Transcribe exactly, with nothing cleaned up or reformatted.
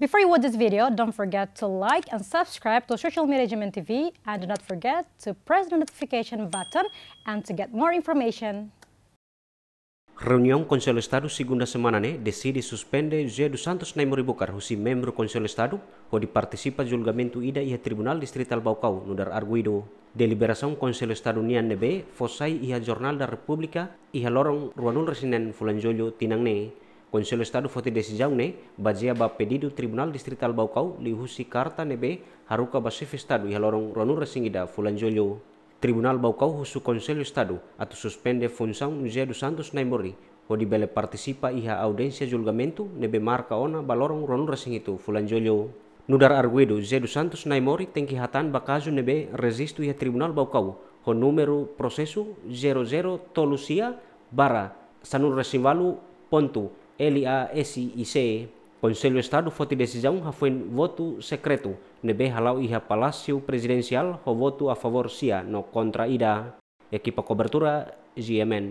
Before you watch this video, don't forget to like and subscribe to Social Media G M N T V, and do not forget to press the notification button and to get more information. Reuniaun Konsellu Estadu segunda semana ne'e deside suspende José dos Santos Naimori Bucar husi membru Konsellu Estadu hodi partisipa julgamentu ida iha Tribunál Distritál Baucau, nu'udar arguidu. Deliberasaun Konsellu Estadu nian ne'ebé fó sai iha Jornál da Repúblika iha loron ruanulu-resin-neen fulan Jullu tinan ne'e. Konsellu Estadu foti desizaun ne'e bazeia ba pedidu Tribunál Distritál Baucau liuhusi karta ne'ebé haruka ba Xefe Estadu iha loron ruanulu-resin-ida fulan Jullu. Tribunál Baucau husu Konsellu Estadu atu suspende funsaun José dos Santos Naimori hodi bele partisipa iha audiénsia julgamentu ne'ebé marka ona ba loron ruanulu-resin-hitu fulan Jullu. Nu'udar arguidu, José dos Santos Naimori tenke hatán ba kazu ne'ebé rejistu iha Tribunál Baucau ho númeru prosesu zero zero tolu sia barra sanulu-resin-ualu pontu L A S I C. Konsellu Estadu foti desizaun hafoin votu sekretu ne'ebé hala'o iha Palásiu Prezidensiál ho votu a favór sia no kontra ida. Ekipa kobertura G M N.